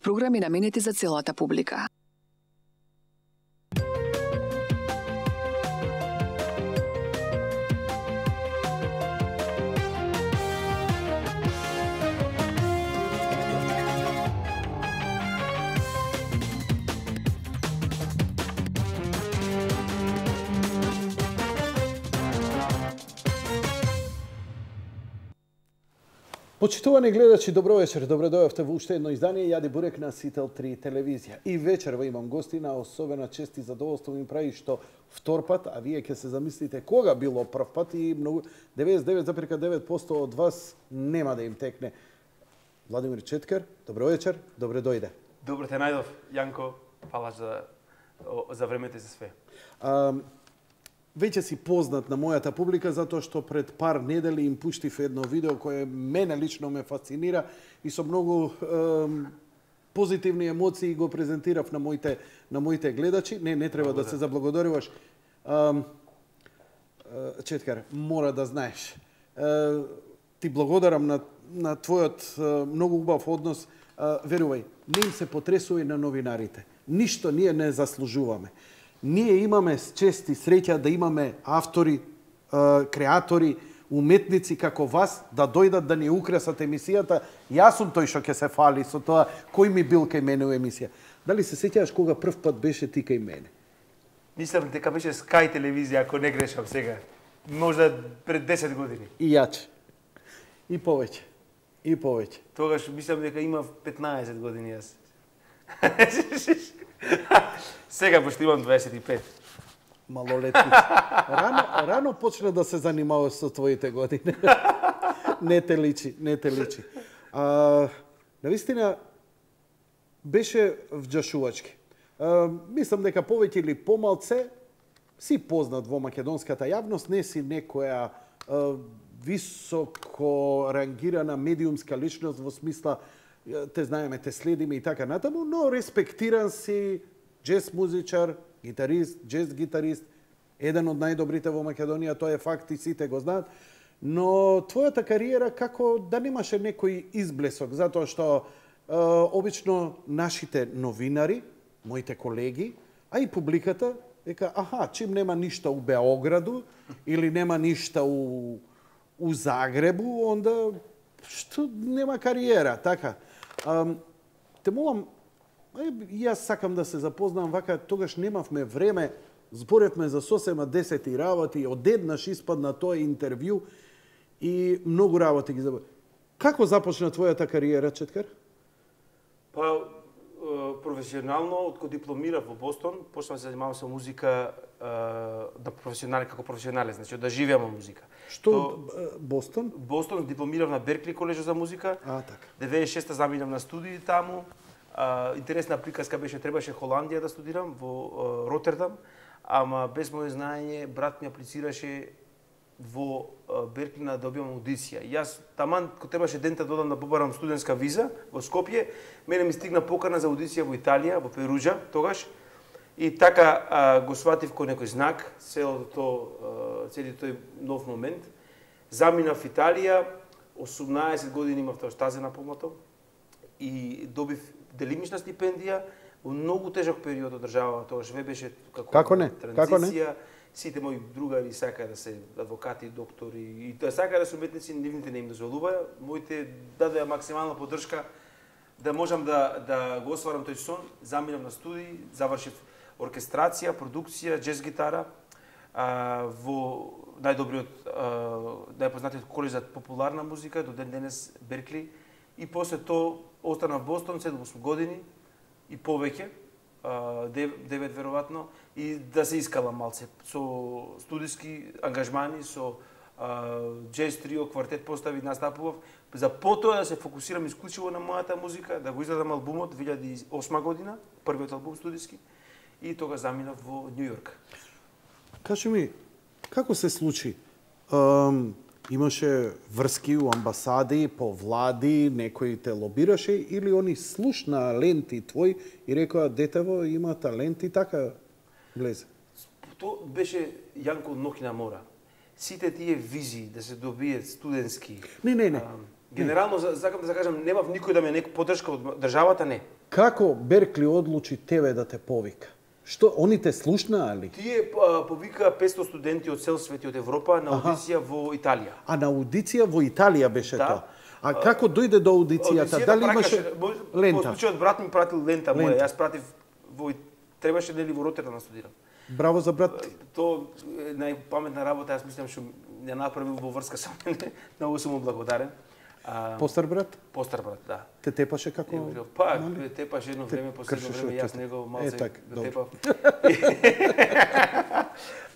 Програми наменети за целата публика. Почитувани гледачи, добро вечер. Добро дојавте во уште едно издание Јади Бурек на Сител 3 телевизија. И вечерва имам гостина, особена чест и задоволство ми прави што втор пат, а вие ќе се замислите кога било прв пат и многу 99,9% од вас нема да им текне. Владимир Четкер, добро вечер, добре дојде. Добро те најдов, Јанко. Фала за времето и за све. Веќе си познат на мојата публика затоа што пред пар недели им пуштив едно видео кое мене лично ме фасцинира и со многу позитивни емоции го презентирав на моите гледачи. Не треба да се заблагодаруваш. Четкар, мора да знаеш. Ти благодарам на твојот многу убав однос. Верувај, не им се потресува на новинарите. Ништо ние не заслужуваме. Ние имаме чест и среќа да имаме автори, креатори, уметници како вас да дојдат да ни украсат емисијата. Јас сум тој што ќе се фали со тоа кој ми бил кај мене во емисија. Дали се сеќаваш кога прв пат беше ти кај мене? Мислам дека беше Sky телевизија, ако не грешам сега. Можда пред 10 години. И јаче. И повеќе. И повеќе. Тогаш мислам дека имав 15 години јас. Сега пошто имам 25. Малолетни. Рано почна да се занимаваш со твоите години. Не те личи. Навистина беше вџашувачки. Мислам дека повеќе или помалце си познат во македонската јавност, не си некоја високо рангирана медиумска личност во смисла те знаеме, те следиме и така натаму, но респектиран си джез музичар, гитарист, джез гитарист, еден од најдобрите во Македонија, тоа е факт и сите го знаат. Но твојата кариера како да немаше некој изблесок, затоа што обично нашите новинари, моите колеги, а и публиката, века, чим нема ништо у Београду или нема ништо у Загребу, онда што нема кариера, така. Те молам, јас сакам да се запознам вака, тогаш немавме време, зборевме за сосема 10 работи, одеднаш испадна тоа интервју и многу работи ги заборев. Како започна твојата кариера, Четкар? Па, професионално, откога дипломирав во Бостон, почнав да се занимавам со музика како професионален, значи да живеам во музика. Што Бостон? Бостон, дипломирав на Беркли колежот за музика. Така. 96-та заминав на студии таму. Интересна приказка беше, требаше Холандија да студирам во Ротердам, ама без моје знаење брат ми аплицираше во Беркли да добиам аудиција. Јас таман кога требаше дента да одам да побарам студентска виза во Скопје, мене ми стигна покана за аудиција во Италија, во Перуџа тогаш. И така го сватив кој некој знак, целиот тој нов момент. Заминав в Италија, 18 години имав тоа штазена помато и добив делимична стипендија во многу тежок период од државата, тогаш ве беше како не? Транзиција. Сите мои другари сакаа да се адвокати, доктори и сакаа да се уметници, нивните не им дозволуваја. Моите дадоа максимална поддршка да можам да го остварам тој сон. Заминав на студии, завршив оркестрација, продукција, джез гитара во најпознатиот колеж за популарна музика до ден денес Беркли, и после тоа останав во Бостон 7 години и повеќе, 9 веројатно, и да се искалам малце со студиски ангажмани, со джез трио, квартет постави, настапував, за потоа да се фокусирам исклучиво на мојата музика, да го изгледам албумот 2008 година, првиот албум студиски, и тога заминав во Њу Јорк. Кажи ми, како се случи? Имаше врски у амбасади, по влади, некој те лобираше или они слушна ленти твој и рекоа детево има талент и така влезе? Тоа беше Јанко ноќ на мора. Сите тие визии да се добијат студентски. Не. Генерално, сакам да кажам, немав никој да ме нека поддршка од државата, не. Како Беркли одлучи тебе да те повика? Што, они те слушнаа ли? Тие повика 500 студенти од цел свет и од Европа на аудиција во Италија. А на аудиција во Италија беше Да. тоа? А како дојде до аудицијата? Дали имаше лента? Во случајот брат ми пратил лента моја, јас пратив требаше нели во Ротердам да студирам. Браво за брат. Тоа е најпаметна работа, јас мислам што ја направил во врска со мене. Многу сум му благодарен. Постар брат? Постар брат, да. Те тепаше како? Па, тепаше едно време, последно време, јас него малце така, тепав.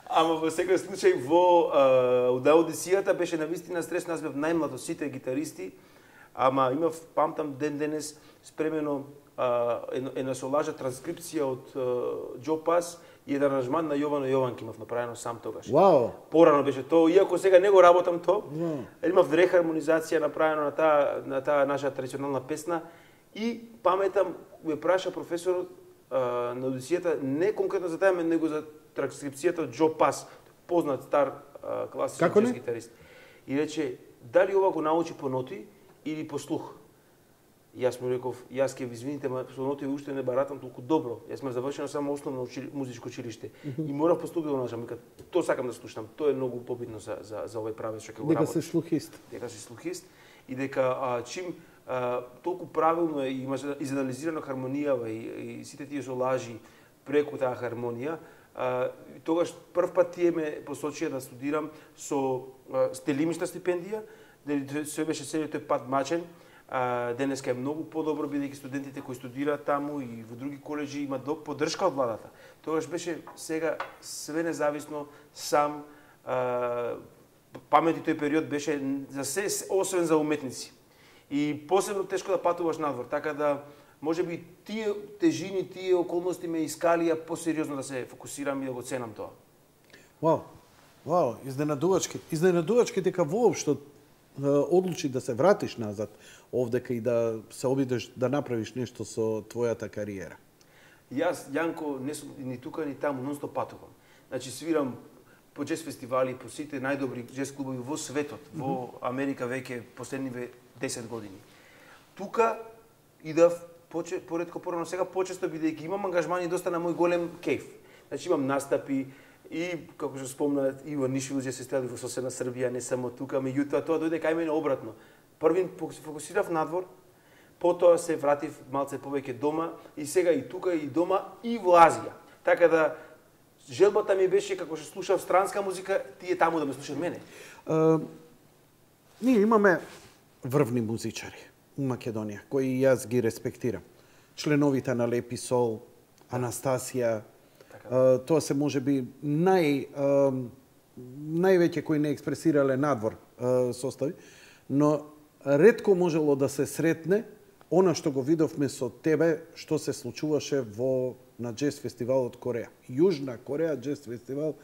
Ама во секој случај, во аудицијата беше навистина стрес, нас бев најмлад од сите гитаристи, ама имав, памтам, ден денес спремено една солажа транскрипција од Џо Пас и еден аранжман на Јовано Јованки имав направено сам тогаш. Вау! Порано беше тоа, иако сега не го работам тоа. Имав рехармонизација направено на таа наша традиционална песна и паметам ме праша професорот на аудицијата не конкретно за таа, него за транскрипцијата од Џо Пас, познат стар класичен џез гитарист. И рече, дали ова го научи по ноти или по слух? Јас му реков, јас ке ви извините, ма со ноти уште не баратам толку добро. Јас сме завршено само основно музичко училиште. И морав по слух да го научам. Тоа сакам да слушам. Тоа е многу побитно за овој правец што ќе го работи. Дека си слухист. Дека си слухист и дека чим толку правилно е има изанализирана хармонијава и сите тие солажи преку таа хармонија, тогаш прв пат тие ме посочија да студирам со телимишна стипендија, дали се беше целиот тој пат мачен. Денеска е многу подобро, бидејќи студентите кои студираат таму и во други коледжи имаат поддршка од владата. Тогаш беше сега све независно, сам, памети тој период беше за се, освен за уметници. И посебно тешко да патуваш надвор, така да можеби тие тежини, тие околности ме искалија посериозно да се фокусирам и да го ценам тоа. Вау, изненадувачки. Изненадувачки дека воопшто одлучи да се вратиш назад овдека и да се обидеш да направиш нешто со твојата кариера. Јас, Јанко, не сум ни тука ни таму, нонстоп патувам. Значи свирам по џез фестивали, по сите најдобри џез клубови во светот, во Америка веќе последниве 10 години. Тука идав поретко порано, сега почесто бидејќи имам ангажмани доста на мој голем кејф. Значи имам настапи и како што спомнат и во Нишвил џез фестивали во соседна Србија, не само тука, меѓутоа тоа дојде кај мене обратно. Првин се фокусирав надвор, потоа се вратив малце повеќе дома и сега и тука и дома и во Азија. Така да желбата ми беше како што слушав странска музика, тие таму да ме слушаат мене. Ние имаме врвни музичари у Македонија, кои јас ги респектирам. Членовите на Лепи Сол, Анастасија, тоа се можеби највеќе кои не експресирале надвор состави, но ретко можело да се сретне она што го видовме со тебе, што се случуваше на џез фестивалот Кореја. Јужна Кореја џез фестивал,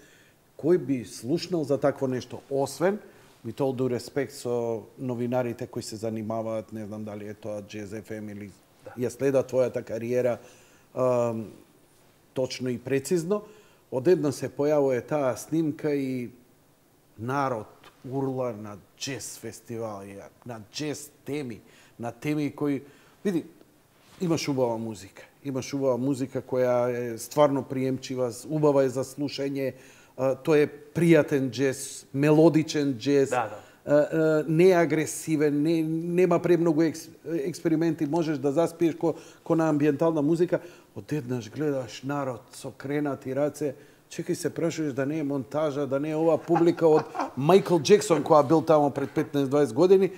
кој би слушнал за такво нешто, освен with all due respect со новинарите кои се занимаваат, не знам дали е тоа Jazz FM или ја следат твојата кариера точно и прецизно, одеднаш се појавува таа снимка и народ урла на џез фестивали, на џез теми, на теми кои... Види, имаш убава музика. Имаш убава музика која е стварно приемчива, убава е за слушање, тој е пријатен џез, мелодичен џез, не е агресивен, нема премногу експерименти, можеш да заспиеш ко на амбиентална музика, одеднаш гледаш народ со кренати раце, чекај се прашуваш да не е монтажа, да не е ова публика од Майкл Џексон која бил таму пред 15-20 години.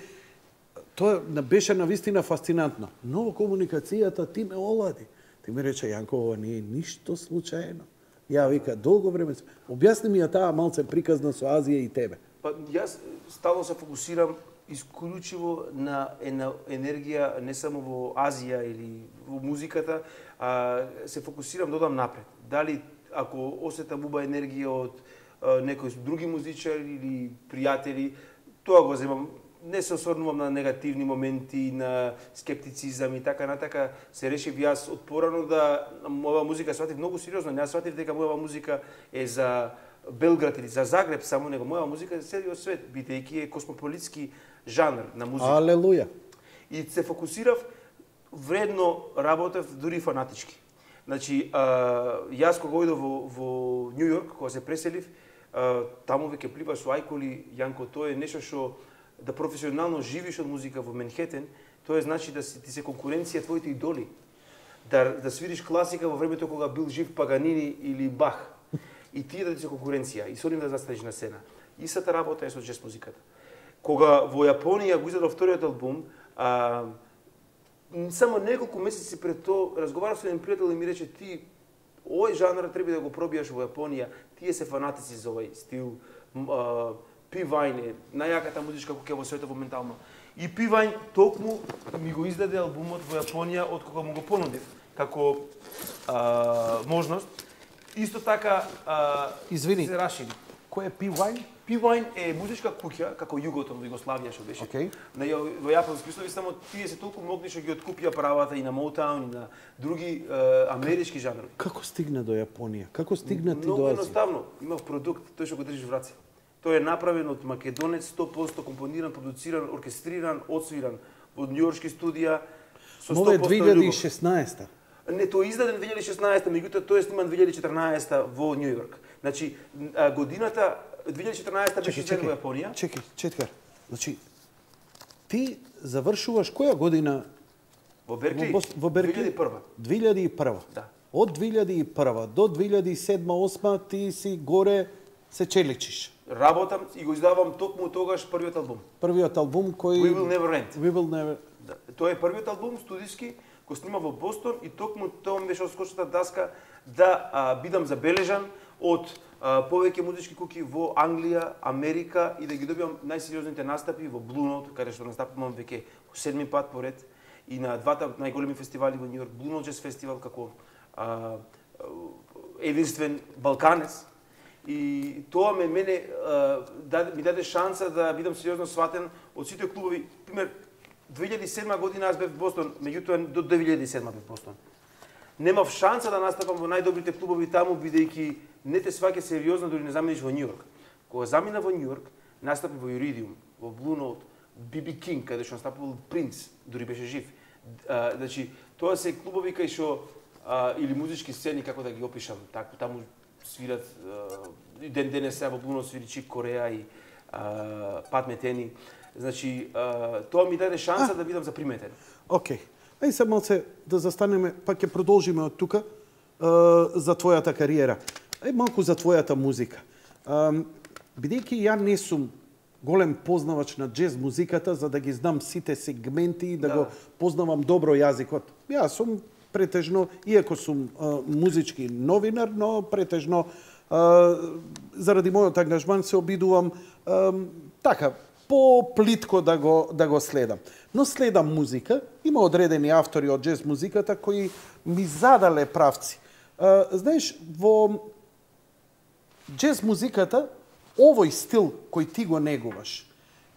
Тоа беше навистина фасцинантно. Но во комуникацијата ти ме олади. Ти ми рече, Јанко, ова не е ништо случајно. Ја вика, долго време... Објасни ми ја таа малце приказна со Азија и тебе. Па, јас стално се фокусирам исклучиво на енергија не само во Азија или во музиката, се фокусирам да одам напред. Дали ако осетам уба енергија од некои други музичари или пријатели, тоа го земам. Не се осврнувам на негативни моменти, на скептицизам и така натака. Се решив јас од порано да моја музика сватив многу сериозно. Не сватив дека моја музика е за Белград или за Загреб само, него моја музика е за целиот свет, бидејќи е космополитски жанр на музика. Алелуја. И се фокусирав, вредно работев, дури фанатички. Значи, јас кога ојдов во Нью Йорк, кога се преселив, таму веќе пливаш со ајколи, Јанко, тоа е нешто што да професионално живиш од музика во Менхетен, тоа значи да ти се конкуренција твоите идоли. Да свириш класика во времето кога бил жив Паганини или Бах. И тие да ти се конкуренција, и со нив да застанеш на сцена. Истата работа е со джез музиката. Кога во Јапонија го издадов вториот албум, само неколку месеци пред тоа разговарав со еден пријател и ми рече: ти овој жанр треба да го пробијаш во Јапонија, тие се фанатици за овој стил. P-Vine е најаката музичка куќа во светот моментално. И P-Vine токму ми го издаде албумот во Јапонија од кога му го понудив како можност. Исто така Извини, се рашири. кој е P-Vine? P-Vine е музичка куќа како Југотон во Југославија што беше. Okay. Во јапонски услови, само тие се толку могни што ги откупија правата и на Motown и на други амерички жанрови. Како стигна до Јапонија? Како стигна ти Многу до Азија? едноставно. Имав продукт, тој што го држиш в раце. Тој е направен од македонец, 100% компониран, продуциран, оркестриран, отсвиран во њујоршки студија со 100% Мова е љубов. 2016. Не, тој е издаден 2016, меѓутоа тој е сниман 2014 во Њу Йорк. Значи, годината 2014 беше издаден во Јапонија. Чекай. Значи, ти завршуваш која година Во Беркли? во Беркли? 2001. 2001. Да. Од 2001 до 2007-2008 ти си горе се челичиш. Работам и го издавам токму тогаш првиот албум. Првиот албум кој... We Will Never End. We Will Never... Да. Тоа е првиот албум студиски, го снима во Бостон и токму тоа ми беше скочната даска да бидам забележан од повеќе музички куќи во Англија, Америка и да ги добивам најсериозните настапи во Blue Note, каде што настапувам веќе 7 пат поред и на двата најголеми фестивали во Њу Йорк, Blue Note Jazz фестивал како единствен балканец. И тоа мене ми даде шанса да бидам сериозно сватен од сите клубови. Пример, 2007 година аз бев в Бостон, меѓутоа до 2007 бев в Бостон. Немав шанса да настапам во најдобрите клубови таму, бидејќи не те сваќа сериозно дори не замениш во Њу Йорк. Кога замина во Њу Йорк, настапи во Iridium, во Blue Note, BB King, каде што настапувал Принц, дури беше жив. Значи, тоа се клубови кај што или музички сцени, како да ги опишам, така таму свират ден денес во Blue Note свири Чик Кореа и Пат Метени. Значи, тоа ми даде шанса да бидам заприметен. Океј. Ај се малце да застанеме, па ќе продолжиме од тука за твојата кариера. Ај малку за твојата музика. Бидејќи ја не сум голем познавач на джез музиката, за да ги знам сите сегменти и да го познавам добро јазикот. Јас сум претежно, иако сум музички новинар, но претежно заради мојот ангажман се обидувам така по-плитко да го следам. Но следам музика, има одредени автори од джез музиката кои ми задале правци. Знаеш, во джез музиката, овој стил кој ти го негуваш,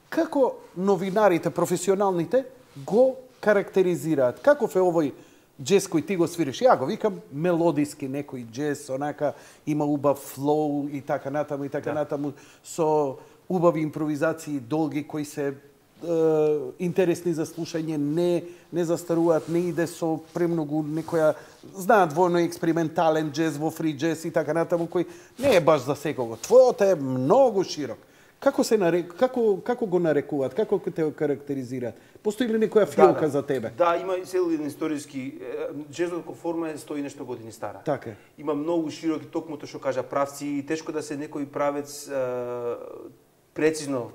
како новинарите, професионалните, го карактеризираат? Каков е овој джез кој ти го свириш? Ја го викам мелодиски некој джез, онака има убав флоу и така натаму, со убави импровизации долги кои се интересни за слушање, не застаруваат, не иде со премногу некоја, знаат војно експериментален джез, во фри джез и така натаму, кој не е баш за секого. Твојот е многу широк. Како го нарекуваат? Како те го карактеризираат? Постои ли некоја филка за тебе? Да, има цел еден историски джезот како форма е 100 и нешто години стара. Така е. Има многу широки, токму тоа што кажа правци, и тешко да се некој правец прецизно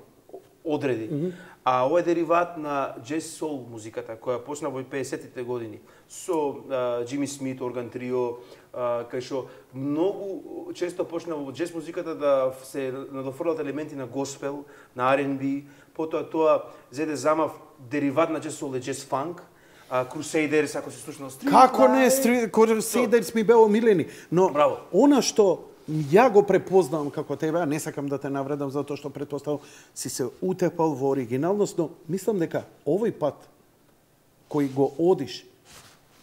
одреди. А ова е дериват на джез сол музиката, која почна во 50-тите години со Джими Смит, Орган Трио, кај што многу често почна во джез музиката да се надофрлат елементи на госпел, на R&B, потоа тоа зеде замав дериват на джез сол е джез фанк, Crusaders, ако се слушнал Street. Како не, Crusaders ми беа омилени, но Браво. она што ја го препознавам како тебе, а не сакам да те навредам затоа што претпоставам си се утепал во оригиналност, но мислам дека овој пат кој го одиш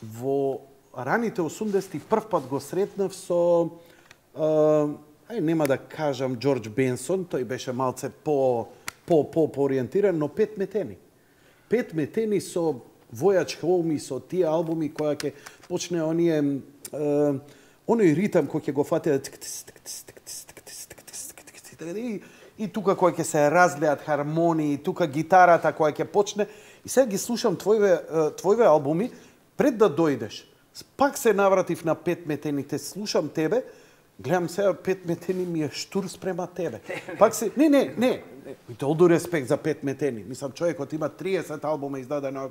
во раните 80-ти прв пат го сретнав со нема да кажам Џорџ Бенсон, тој беше малце ориентиран, но Пет метени. Пет метени со Voyage Home и со тие албуми која ќе почне оној ритам кој ќе го фати и тука кој ќе се разлеат хармонии, тука гитарата која ќе почне. И сега ги слушам твојве албуми пред да дојдеш. Пак се навратив на Пет метените, слушам тебе, гледам сега Пет метени ми е штур спрема тебе. Пак се не. Толку респект за Пет метени. Мислам човекот има 30 албума издадено.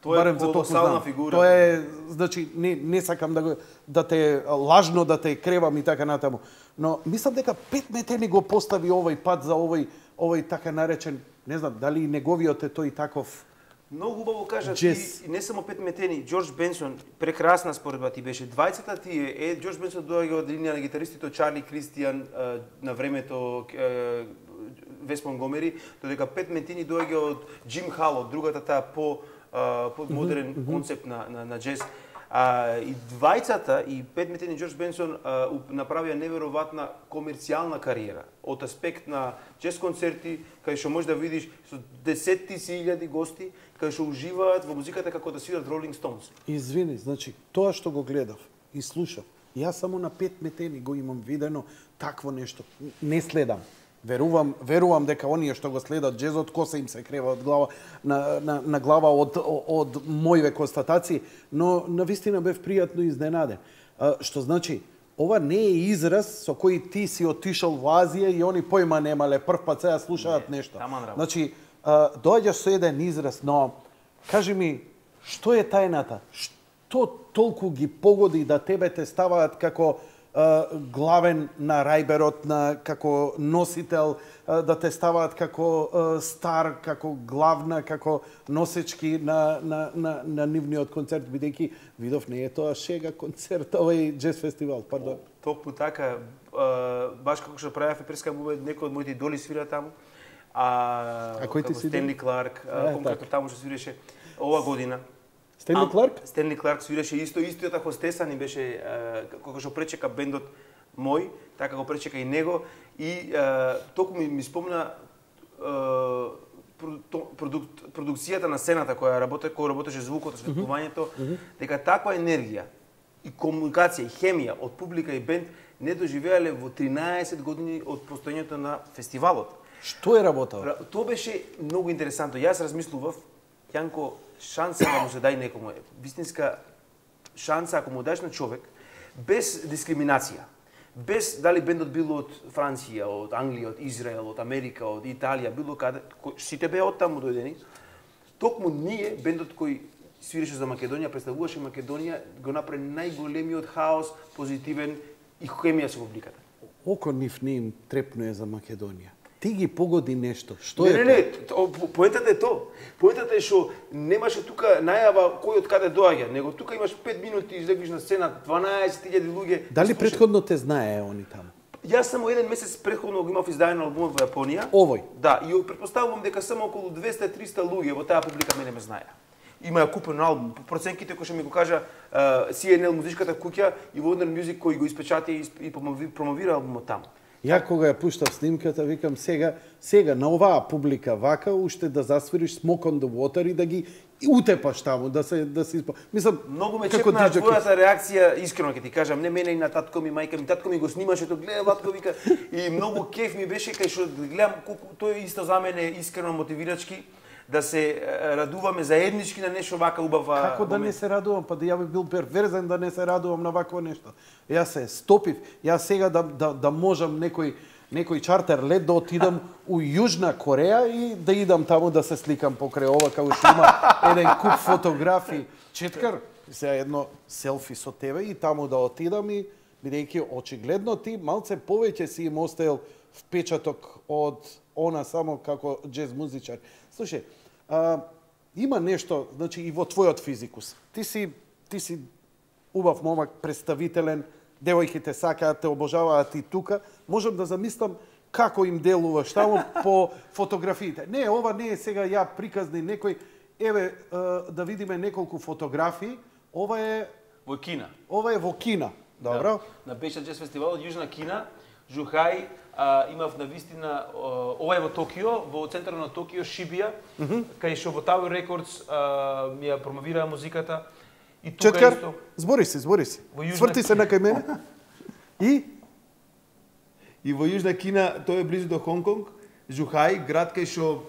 Тоа е колосална фигура. Тоа е, значи, не сакам да те лажно да те кревам и така натаму. Но мислам дека Пет метени го постави овој пат за овој така наречен, не знам, дали неговиот е тој таков. Многу убаво кажа ти, не само Пет метени, Џорџ Бенсон, прекрасна споредба ти беше. Двајцата тие, Џорџ Бенсон доаѓа од линија на гитаристите од Чарли Кристијан на времето Вес Монгомери, додека Пет метени доаѓа од Џим Хал, од другата таа модерен концепт на джез. И двајцата, и Пет метени и Џорџ Бенсон направија неверојатна комерцијална кариера од аспект на джез концерти, кај што можеш да видиш со десетти илјади гости, кај што уживаат во музиката како да свират Rolling Stones. Извини, значи, тоа што го гледав и слушав, јас само на Пет метени го имам видено такво нешто. Не следам. Верувам дека оние што го следат джезот, коса им се крева од глава на глава од мојве констатации, но навистина бев пријатно изненаден. Што значи, ова не е израз со кој ти си отишол во Азија и они појма немале прв пат сега слушаат нешто. Значи, доаѓаш со еден израз, но кажи ми, што е тајната? Што толку ги погоди да тебе те ставаат како главен на рајберот, како носител, да те ставаат како стар, како главна, како носечки на нивниот концерт, бидејќи видов не е тоа шега концерт, овој джез фестивал, пардон. Токму така, баш како што правевме преска бубе, некој од моите идоли свира таму. Кој ти си? Стенли Кларк, конкретно таму што свиреше ова година. Стенли Кларк? Стенли Кларк свиреше истиот хостеса ни беше кога што пречека бендот мој, така го пречека и него и токму ми спомна продукцијата на сцената која работеше звукот, осветлувањето, дека таква енергија и комуникација и хемија од публика и бенд не доживеале во 13 години од постоењето на фестивалот. Што е работел? Тоа беше многу интересантно. Јас размислував, Јанко, шанса да му се дај некому, вистинска шанса ако му дадеш на човек без дискриминација, без дали бендот бил од Франција, од Англија, од Израел, од Америка, од Италија, било каде, сите беа од таму дојдени. Токму ние, бендот кој свиреше за Македонија, представуваше Македонија, го направи најголемиот хаос, позитивен и хемија со публиката. Око нив не им трепнуе за Македонија. Ти ги погоди нешто. Што е? Не, поентата е тоа. Поентата е што немаше тука најава кој од каде доаѓа, него тука имаш 5 минути излегнеш на сцена, 12.000 луѓе. Дали претходно те знае они таму? Јас само еден месец претходно го имав издаден албум во Јапонија. Овој? Да, и претпоставувам дека само околу 200-300 луѓе во таа публика мене ме знаеа. Има купен албум. По проценките кои што ми го кажа CNL музичката куќа и Warner Music кој го испечати и промовира албумот таму. Ја кога ја пуштав снимката, викам сега на оваа публика вака уште да засвириш Smoke on the Water и да ги утепаш таму, да се мислам, многу ме чепна твојата реакција, искрено ќе ти кажам, не мене и на татко ми, мајка ми, татко ми го снимаше, тоа гледа Ватко вика и многу кеф ми беше кај што гледам колку тој исто за мене искрено мотивирачки да се радуваме заеднички на нешто вака убава. Како да не се радувам, па да ја би бил перверзен да не се радувам на вакво нешто. Јас се стопив, јас сега да можам некој чартер лет да отидам у Јужна Кореја и да идам таму да се сликам покрај ова, како што има еден куп фотографии. Четкар, сега едно селфи со тебе и таму да отидам и бидејќи очигледно ти малце повеќе си им оставил впечаток од она само како джез музичар. Слушај, има нешто, значи и во твојот физикус. Ти си убав момак, представителен, девојките сакаат, те обожаваат и тука. Можам да замислам како им делуваш таму по фотографиите. Не, ова не е сега ја приказни некој. Еве да видиме неколку фотографии. Ова е во Кина. Ова е во Кина. Добро. Да. На Беша джез фестивалот Јужна Кина. Жухај, имав навистина, ова е во Токио, во центарот на Токио, Шибија, кај што во Tower Records ми ја промовираа музиката. И тука Четкар, исто. збори си. Сврти се на кај мене. И во Јужна Кина, тој е близу до Хонконг, Жухај, град кај што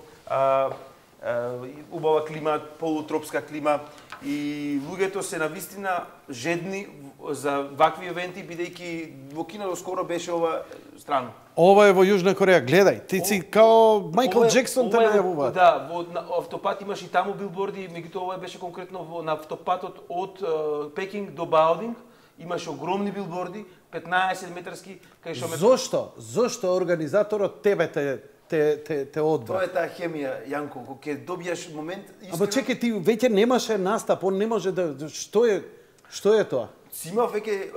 убава клима, полутропска клима, и луѓето се навистина жедни за вакви евенти, бидејќи во Кина доскоро беше ова странно. Ова е во Јужна Кореја, гледај, ти си као Майкл Джексон те најавува. Да, на автопат имаш и таму билборди, меѓутоа ова беше конкретно на автопатот од Пекинг до Баодинг, имаше огромни билборди, 15 метарски, кај што Зошто организаторот тебе те одбра? Тоа е таа хемија, Јанко, кога ќе добиеш момент истина. Ама чекај, ти веќе немаше настап, он не може да што е тоа? Си имав веќе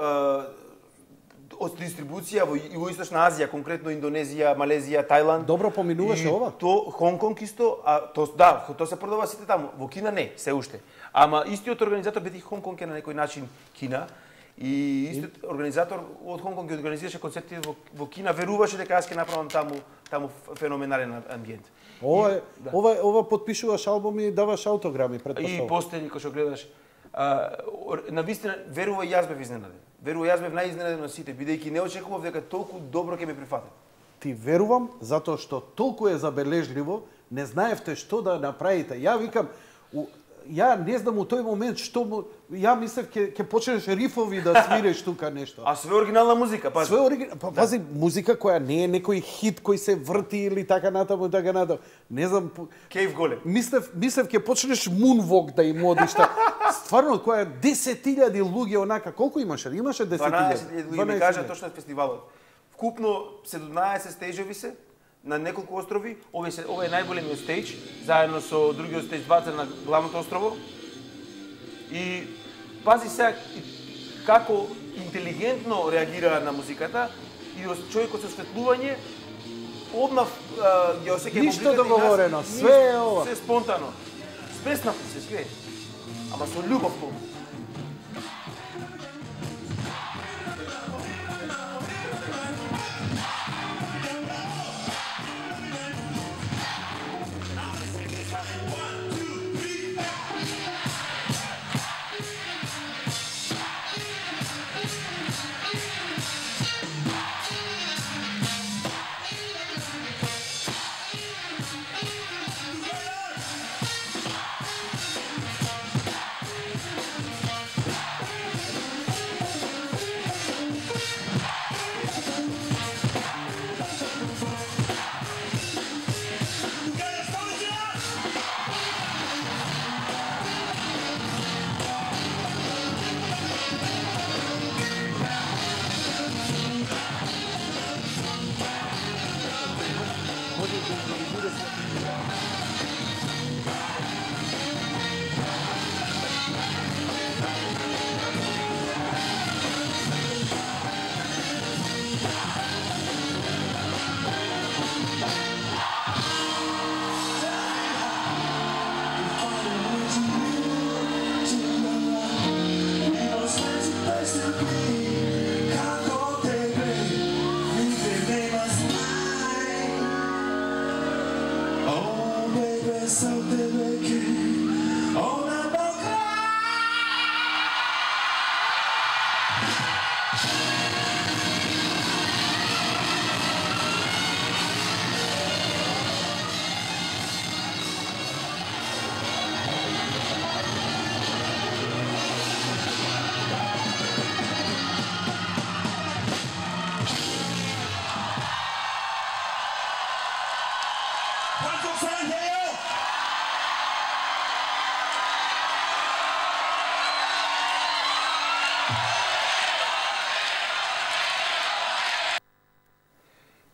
од дистрибуција во Југоисточна Азија, конкретно Индонезија, Малезија, Тајланд. Добро поминуваше ова? То Хонконг исто, тоа се продава сите таму. Во Кина не, се уште. Ама истиот организатор бидејќи Хонконг е на некој начин Кина, и истиот организатор од Хонконг ги организираше концерти во Кина, веруваше дека јас ќе направам таму феноменален амбиент. Ова потпишуваш албуми и даваш аутограми, И претпоставувам. постери кој што гледаш, навистина верувам јас бев изненаден. Верувам јас бев најизненаден од сите, бидејќи не очекував дека толку добро ќе ме прифатат. Ти верувам затоа што толку е забележливо, не знаевте што да направите. Ја викам, ја не знам у тој момент што ја мислев ќе почнеш рифови да свириш тука нешто. А све оригинална музика, пази. Све оригинална, пази, музика која не е некој хит кој се врти или така натаму. Не знам. Кейв голем. Мислев ќе почнеш Moonwalk да им одиш. Стварно, која 10.000 луѓе онака, колку имаше? Имаше 10.000. 12.000 ми кажа точно фестивалот. Вкупно 17 стејџеви се на неколку острови. Ова е најголемиот стејдж, заедно со другиот стејдж 2 на главното острово. И пази сега како интелигентно реагира на музиката и човекот со осветлување одмав ја осеќа ништо договорено, све е ова. Се спонтано. Спреснав се све. Ама со љубов пому.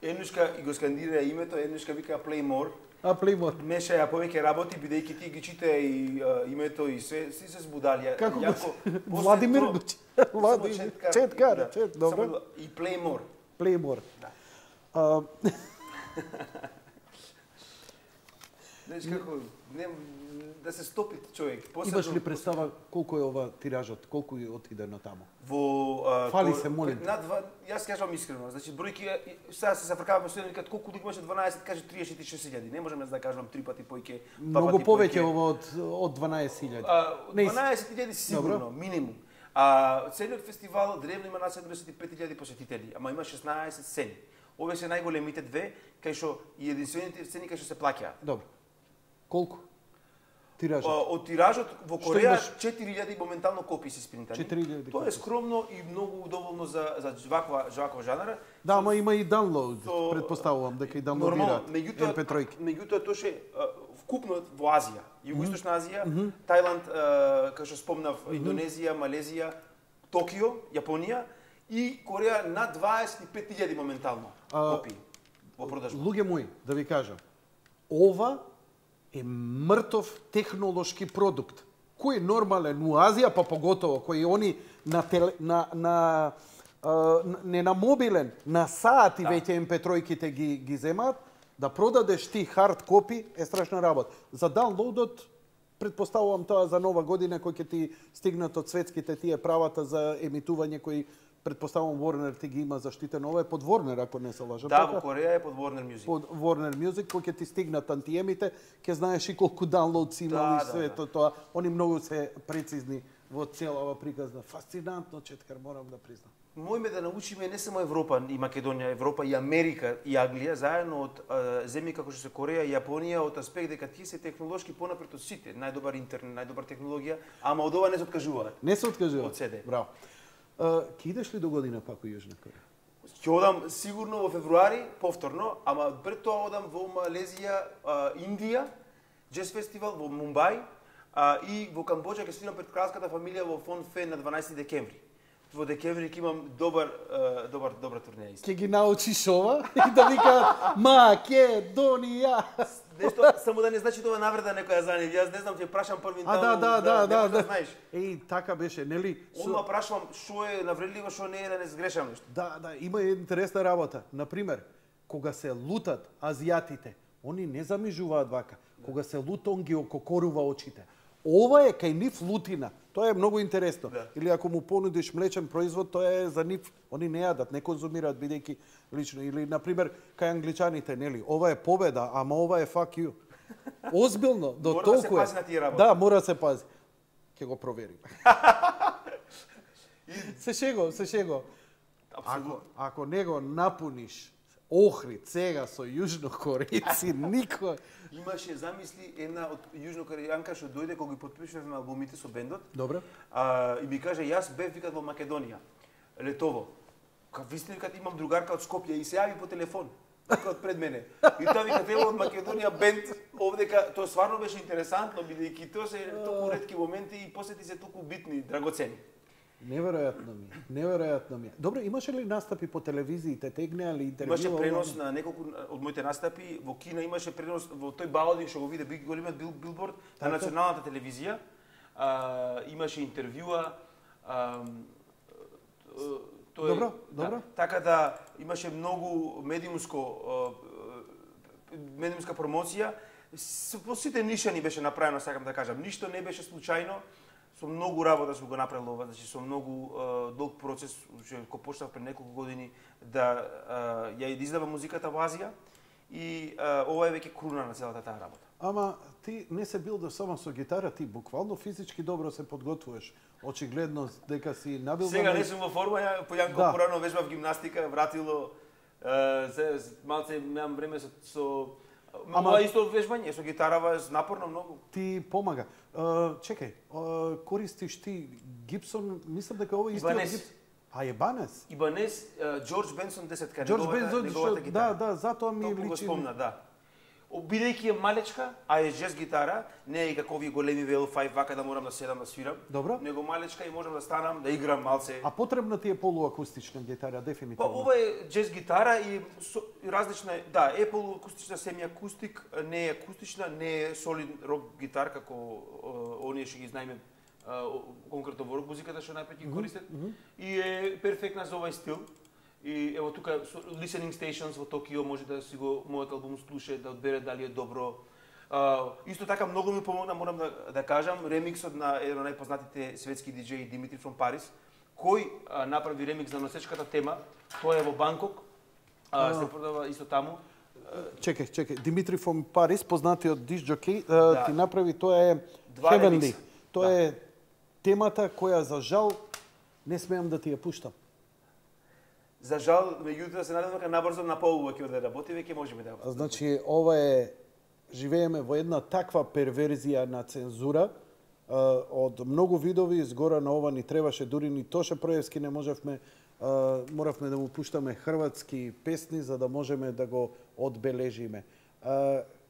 Еднушка и го скандира името, еднушка вика Play More. Play More. Меша ја повеќе работи, бидејќи ти ги чита и името и се се збудали. Како Владимир Четкар, добро. И Play More. Play More. Да. Знаеш како, да се стопи човек. Имаш ли представа колку е ова тиражот, колку е отиде на таму? Фали се, молим. Јас кажам искрено, значи бројки сега се зафркаваме со еден колку имаше 12, каже 36.000. Не можеме да кажам 3 пати поиќе, Многу повеќе ова од 12.000. 12.000 сигурно, минимум. Целиот фестивал древно има на 75.000 посетители, ама има 16 сцени. Овие се најголемите две, кај што и единствените сцени кај што се плаќаат. Добро. Колку? Тиражот? Од тиражот во Кореја 4.000 моментално копии се испринтани. 4.000. Тоа е скромно и многу доволно за ваква жанра. Да, ама има и даунлоуд, предпоставувам дека и даунлоудираат MP3. Меѓутоа тоа ше вкупно во Азија, Југоисточна Азија, Тајланд, како што спомнав, Индонезија, Малезија, Токио, Јапонија и Кореја над 25.000 моментално копии во продажба. Луѓе мои, да ви кажам, ова е мртов технолошки продукт, кој е нормален у Азија, па поготово, кој они не на мобилен, на сати веќе MP3-ките ги земаат, да продадеш ти хард копи е страшна работа. За даунлоудот, предпоставувам тоа за нова година, кој ќе ти стигнат од светските тие правата за емитување, кои предпоставувам Warner ти ги има заштитено. Ова е под Warner, ако не се лажам. Да, во Кореја е под Warner Music. Под Warner Music, кој ќе ти стигнат антиемите, ќе знаеш и колку даунлоуд си имал и све тоа. Они многу се прецизни во целава приказна. Фасцинантно, Четкар, морам да признам. Мојме да научиме не само Европа и Македонија, Европа и Америка и Англија, заедно од земји како што се Кореја и Јапонија, од аспект дека тие се технолошки понапред од сите. Најдобар интернет, најдобар технологија, ама од ова не се откажуваат. Не се откажуваат? Од СД. Браво. Ке идеш ли до година пак во Јужна Кореја? Ќе одам сигурно во февруари, повторно, ама пред тоа одам во Малезија, Индија, Джез фестивал во Мумбај и во Камбоџа ќе свирам пред кралската фамилија во Фон Фен на 12 декември. Во декември ќе имам добра турнеја. Ќе ги научиш ова и да викаат Македонија. Нешто само да не значи тоа навреда некоја за нив. Јас не знам, ќе прашам првин таму. Да, знаеш. Така беше, нели? Одма прашувам што е навредливо, што не е, да не сгрешам нешто. Да, има интересна работа. Например, кога се лутат азијатите, они не замижуваат вака. Кога се лута, он ги ококорува очите. Ова е кај нив лутина. Тоа е многу интересно. Да. Или ако му понудиш млечен производ, тоа е за нив. Они не јадат, не конзумираат бидејќи лично. Или, например, кај англичаните, нели, ова е победа, ама ова е fuck you. Озбилно, до мора толку да е. се пази на тие работи. Да, мора да се пази. Ќе го проверим. Се шего. Ако не го напуниш Охрид сега со јужнокорејци, никој. Имаше, замисли, една од јужнокорејанка што дојде кога ги потпишувавме албумите со бендот. Добро. И ми каже, јас бев викат во Македонија, летово. Ви сте викат, имам другарка од Скопје и се јави по телефон. Од пред мене. И тоа викат, ево од Македонија бенд, овдека, тоа стварно беше интересантно, бидејќи тоа се толку ретки моменти и посети се толку битни, драгоцени. Неверојатно ми е. Добре, имаше ли настапи по телевизиите, тегнеа ли интервју? Имаше пренос на неколку од моите настапи, во Кина имаше пренос во тој балодинг што го виде големиот билборд на националната телевизија. Имаше интервјуа. Добро. Така да имаше многу медиумска промоција. По сите нишани беше направено, сакам да кажам. Ништо не беше случајно. Со многу работа сум го направил ова, значи со многу долг процес, кој почнав пред неколку години да ја издавам музиката во Азија и ова е веќе круна на целата таа работа. Ама ти не се бил само со гитара, ти буквално физички добро се подготвуваш. Очигледно дека си набил. Сега не сум во форма, појанко порано вежбав гимнастика, вратило, малце немам време со ама исто вежбање, со гитарава напорно многу. Ти помага. Чекај, користиш ти Гибсон, мислам дека ова исто Гибсон. Ебанес? Ибанес, Џорџ Бенсон 10-ка, неговата гитара. Да, затоа ми личи. Толку го спомна, да. Бидејќи е малечка, а е джез гитара, не е како овие големи VL5 вака да морам да седам да свирам. Добро. Него малечка и можам да станам, да играм малце. А потребна ти е полуакустична гитара, дефинитивно. Па ова е джез гитара и различна е, да, е полуакустична, семи акустик, не е акустична, не е солид рок гитар како оние што ги знаеме конкретно во рок музиката што најпред ги користат и е перфектна за овој стил. И ево тука listening stations во Токио може да си го мојот албум слуша, да одбере дали е добро. Исто така многу ми помогна, морам да кажам, ремиксот на еден од најпознатите светски диџеи Димитри from Paris, кој направи ремикс на носечката тема. Тоа е во Банкок. Се продава исто таму. Чекај, Димитри from Paris, познатиот диск џокей, ти направи, тоа е Два Heavenly. ремикса. Тоа е темата која за жал не смеам да ти ја пуштам. За жал, меѓутоа се надевам дека набрзо на повеќе да работи, веќе можеме да. Значи, ова е, живееме во една таква перверзија на цензура, од многу видови, згора на ова ни требаше, дури ни Тоше Проевски не можевме, моравме да му пуштаме хрватски песни за да можеме да го одбележиме.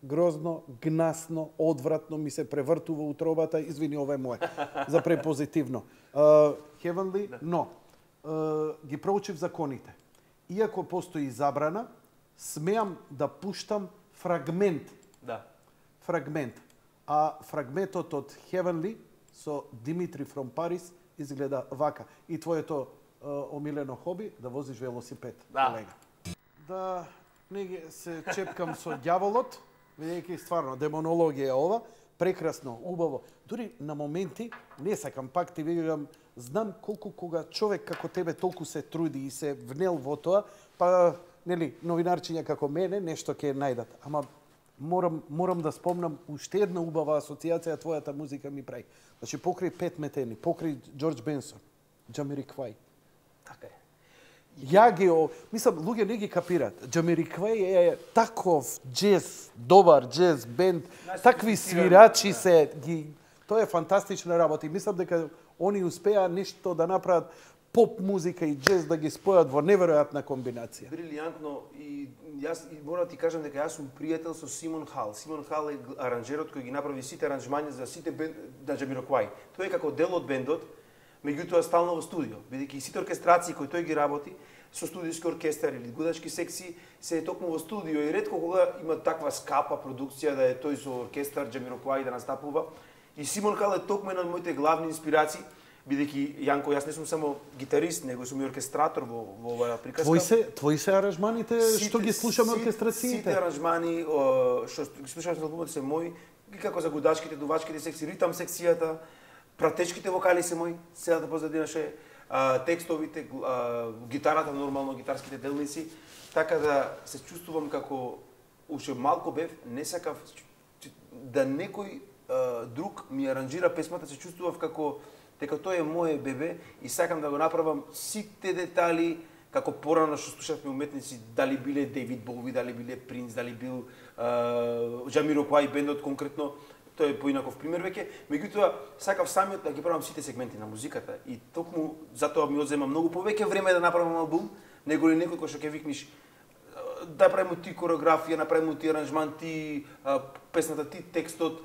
Грозно, гнасно, одвратно ми се превртува утробата, извини, ова е моје, за препозитивно. Heavenly, но ги проучив законите. Иако постои забрана, смеам да пуштам фрагмент. Да. Фрагмент. А фрагментот од Heavenly со Димитри from Paris изгледа вака. И твоето омилено хоби да возиш велосипед, колега. Да не ги се чепкам со ѓаволот, бидејќи стварно демонологија ова, прекрасно, убаво. Дури на моменти не сакам, пак ти видам, знам колку кога човек како тебе толку се труди и се внел во тоа, па нели новинарчиња како мене нешто ќе најдат. Ама морам да спомнам уште една убава асоциација твојата музика ми прави. Значи покрај Пет Метени, покрај Џорџ Бенсон, Џамириквај. Така е. Мислам, луѓе не ги капираат. Џамириквај е таков џез, добар џез бенд, такви свирачи се ги. Тоа е фантастична работа и мислам дека они успеа нешто да направат поп музика и џез да ги спојат во неверојатна комбинација. Брилијантно и јас морам да ти кажам дека јас сум пријател со Симон Хал. Симон Хал е аранжерот кој ги направи сите аранжмања за сите на Џамириквај. Тој е како дел од бендот, меѓутоа стално во студио, бидејќи сите оркестрации кои тој ги работи со студиски оркестар или гудачки секции се е токму во студио и ретко кога има таква скапа продукција да е тој со оркестар Џамириквај да настапува. И Симон Хал е токму една од моите главни инспирации, бидејќи Јанко, јас не сум само гитарист, него сум и оркестратор во оваа приказка. Твои се аранжманите што ги слушаме оркестрациите? Сите аранжмани што ги слушаме на албумот се мои, и како за гудачките, дувачките секции, ритам секцијата, пратечките вокали се мои, целата позадинаше, текстовите, гитарата, нормално гитарските делници, така да се чувствувам како уште малку бев, не сакав да некој друг ми аранжира песмата, се чувствував како дека тоа е моје бебе и сакам да го направам сите детали како порано што слушавме уметници, дали биле Дейвид Боуи, дали биле Принц, дали бил Џамириквај бендот конкретно, тоа е поинаков пример веќе, меѓутоа сакав самиот да ги правам сите сегменти на музиката и токму затоа ми одзема многу повеќе време да направам албум, него ли некој кој што ќе викнеш да правиме ти кореографија, направиме ти аранжман, ти песната, ти текстот,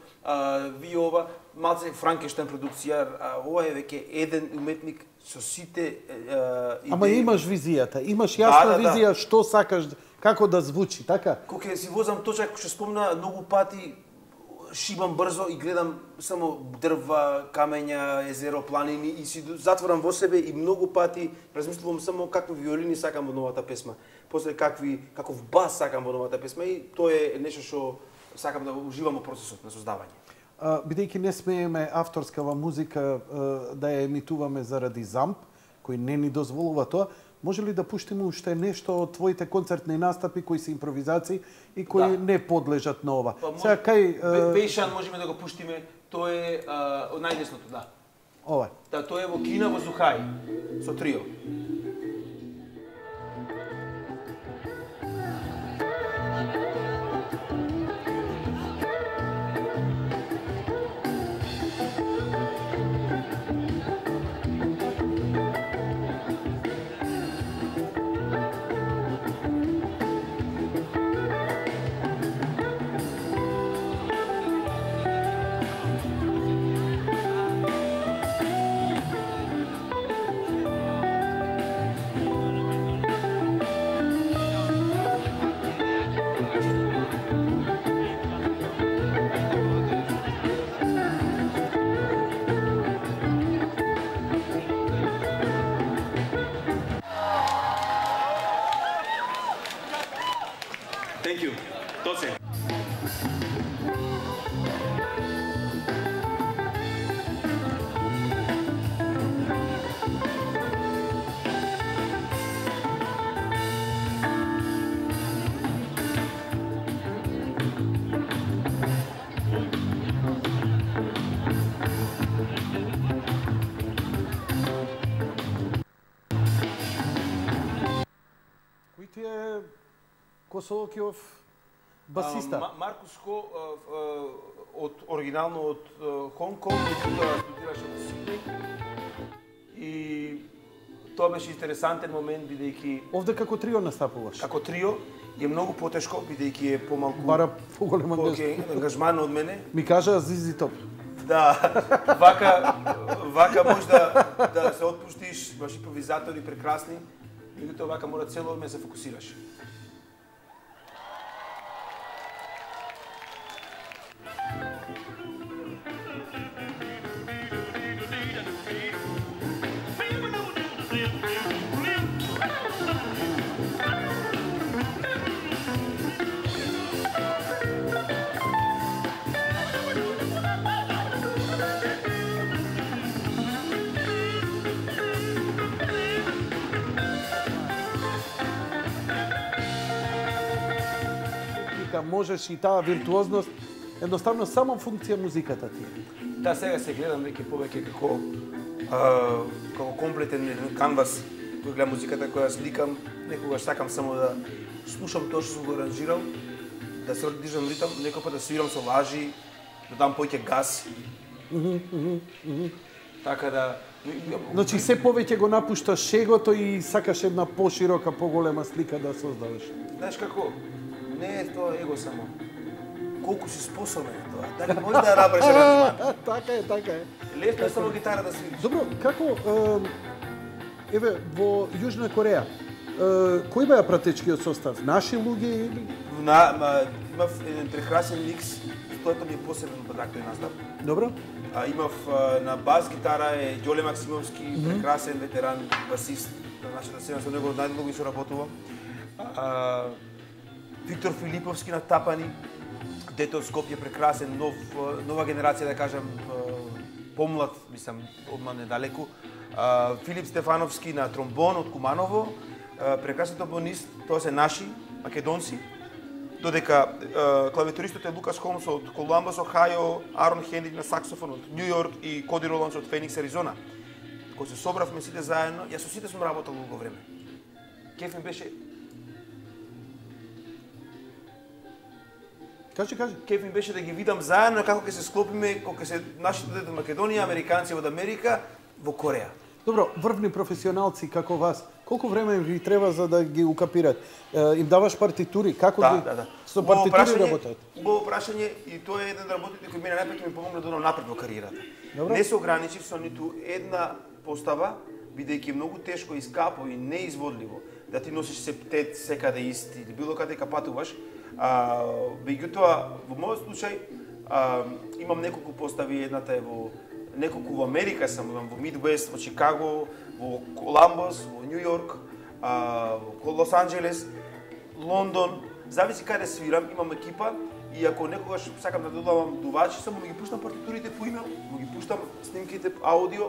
ви ова, малце Франкенштайн продукција, ова е веќе еден уметник со сите идеи. Ама имаш визијата, имаш јасна визија што сакаш, како да звучи, така? Кога си возам точак, што спомна, многу пати шибам брзо и гледам само дрва, камења, езеро, планини и си затворам во себе и многу пати размислувам само какви виолини сакам во новата песма. После каков бас сакам во новата песма и тоа е нешто што сакам да уживам во процесот на создавање. Бидејќи не смееме авторскава музика да ја емитуваме заради ЗАМП, кој не ни дозволува тоа, може ли да пуштиме уште нешто од твоите концертни настапи кои се импровизации и кои не подлежат на ова? Сега кај Бејшан можеме да го пуштиме, тоа е од најдесното, да. Ова. Да, тоа е во Кина во Зухај со трио. ти е Косолокиов басиста. Маркус Хо оригинално од Хонг Конг, меѓутоа студираше во Сиднеј. И тоа беше интересантен момент, бидејќи Овде како трио настапуваш. како трио е многу потешко, бидејќи е помалку Бара поголем ангажман од мене. Ми кажа Зизи Топ. Да, вака може да се отпуштиш, имаш импровизатори прекрасни, меѓутоа вака мора цело време да се фокусираш. Можеш и таа виртуозност, едноставно само функција музиката ти е. Да, сега се гледам веќе повеќе како комплетен канвас, кој гледам музиката која сликам, некогаш сакам само да слушам тоа што сум го аранжирал, да се движам ритам, некој пат да свирам со лажи, да дам поќе газ. Така да Значи се повеќе го напушташ шегото и сакаш една поширока, поголема слика да создадеш. Знаеш како? Не е тоа его само. Колку си способен е тоа. Дали може да рабреш аранжман? Така е. Лесно е само гитара да свириш. Добро, како еве во Јужна Кореја, кој беа пратечкиот состав? Наши луѓе или? Имав еден прекрасен микс, тоа ми е посебен бадаг тој настап. Добро. Имав на бас гитара е Ѓоле Максимовски, прекрасен ветеран басист, на нашата сцена, со него најдолго и соработувам. Виктор Филиповски на тапани, дете од Скопје, прекрасен, нова генерација, да кажам, помлад, мислам, одма недалеку. Филип Стефановски на тромбон од Куманово, прекрасен тромбонист, тоа се наши, македонци. Додека клавиатуристот е Лукас Холмс од Колумбус, Охајо, Арон Хенрик на саксофон од Њу Јорк и Коди Роландс од Феникс, Аризона. Кога се собравме сите заедно, јас со сите сум работел долго време. Кеф ми беше Кеф ми беше да ги видам заедно како ќе се склопиме, кога ќе се нашите дете од Македонија, американци од Америка во Кореја. Добро, врвни професионалци како вас, колку време ви треба за да ги укапират? Им даваш партитури? Како Да. со партитури работат? Убаво прашање и тоа е еден од работите кои мене најпак ми помогна да одам напред во кариерата. Добро. Не се ограничив со ниту една постава, бидејќи е многу тешко и скапо и неизводливо да ти носиш септет секаде исти или било каде патуваш. Меѓутоа, во мојот случај, имам неколку постави, едната е во неколку во Америка сам, имам во Мидвест, во Чикаго, во Коламбус, во Њу Јорк, во Лос Анџелес, Лондон, зависи каде свирам, имам екипа и ако некогаш сакам да додавам дувачи, само ги пуштам партитурите по имейл, ги пуштам снимките аудио,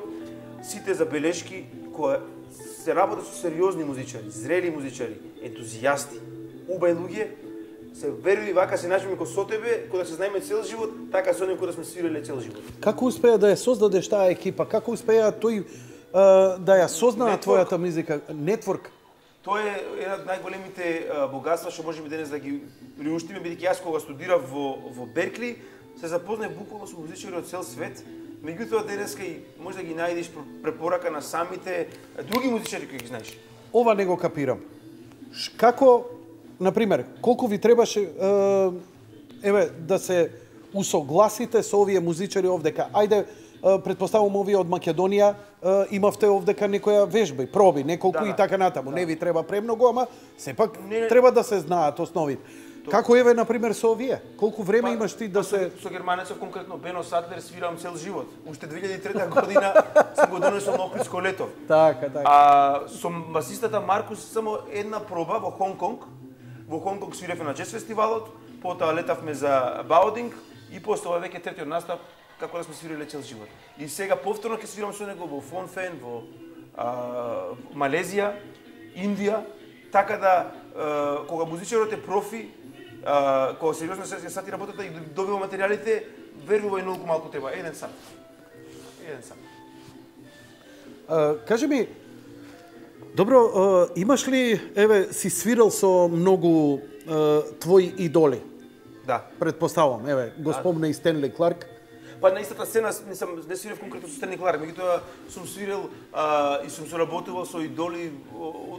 сите забелешки кои се работат со сериозни музичари, зрели музичари, ентузијасти, убај луѓе, се веруи вака се најдеме со тебе, кога се знаеме цел живот, така со него да сме свиреле цел живот. Како успеа да ја создадеш таа екипа? Како успеа тој да ја сознае твојата музика? Нетворк? Тоа е една од најголемите богатства што можеме денес да ги приуштиме, бидејќи јас кога студирав во Беркли, се запознав буквално со музичари од цел свет. Меѓутоа денеска и може да ги најдеш препорака на самите други музичари кои ги знаеш. Ова не го капирам. Како, например, колку ви требаше да се усогласите со овие музичари овдека? Ајде, претпоставувам овие од Македонија, имавте овдека некоја вежба и проби, неколку и така натаму. Не ви треба премногу, ама сепак треба да се знаат основите. Како еве, например, со овие? Колку време имаш ти да се... Со германецов, конкретно Бено Сатлер, свирам цел живот. Уште 2003 година сум го донесол на Охридско лето. Така. Со басистата Маркус само една проба во Хонг Конг. Во Хонг Конг свиревме на джез фестивалот, потоа летавме за Баудинг и после ова веќе третиот настап како да сме свириле цел живот. И сега повторно ќе свирам со него во Фон Фен, во Малезија, Индија, така да кога музичарот е профи, кога сериозно се сати работата и добива материјалите, верувај многу малку треба, еден сат. Кажи ми, Добро, имаш ли, еве, си свирал со многу твои идоли? Да. Предпоставам, еве, го спомна и Стенли Кларк. Па на истата сцена не свирав конкретно со Стенли Кларк, меѓутоа сум свирил и сум соработувал со идоли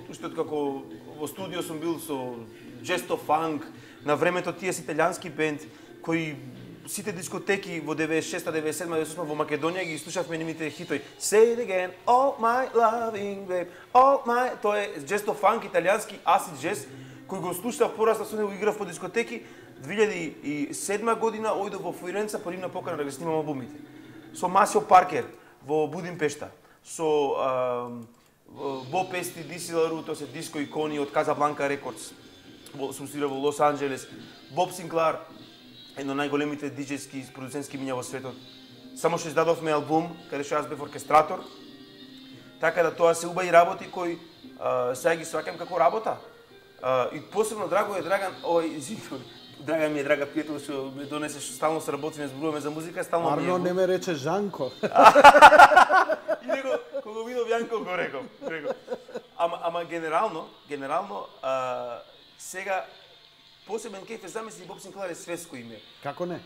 уште како во студио сум бил со Gesto Funk, на времето тие си италијански бенд кои сите дискотеки во 96-та, 97-та, 98-та во Македонија ги слушавме нивните хитои. Say it again, all my loving babe, all my... Тоа е Gesto Funk, италијански acid jazz, кој го слушав порасна со него, играв по дискотеки. 2007 година ојдов во Флоренца по нивна покана да ги снимам албумите. Со Масио Паркер во Будимпешта, со Боб Ести, Диси Лару, тоа се диско икони од Казабланка Рекордс. Сум свирал во Лос Анџелес. Боб Синклар, едно најголемите диџејски продуцентски имиња во светот. Само што издадовме албум, каде што јас бев оркестратор. Така да тоа се убави работи кои сега ги сваќам како работа. И посебно драго е Драган, Драга ми е драга пријател што ме донесе, што стално се работиме, зборуваме за музика, стално ми е. Арно не ме рече Жанко. И него кога видов Јанко го реков. Ама генерално сега посебен кеф е, замисли, Боб Синклар е светско име. Како не?